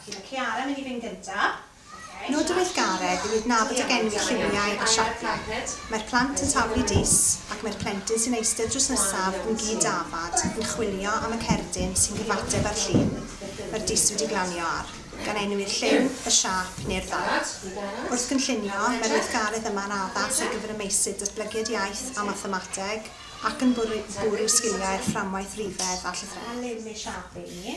Felly mae Ciara yn mynd i fynd gyntaf. Nod y weithgaredd yw adnabod ac enwi lliwiau a siapiau. Mae'r plant yn taflu dis ac mae'r plentyn sy'n eistedd drws nesaf yn gyd-dafad yn chwilio am y cerdyn sy'n cyfateb â'r llun mae'r dis wedi glanio ar, gan enwi'r lliw, y siâp neu'r ddail. Wrth gynllunio, mae'r weithgaredd yma'n addas ar gyfer y meysydd datblygiad iaith a mathemateg ac yn bwrw, bwrw sgiliau'r fframwaith rifedd a A llythrennedd. liw neu siâp i ni.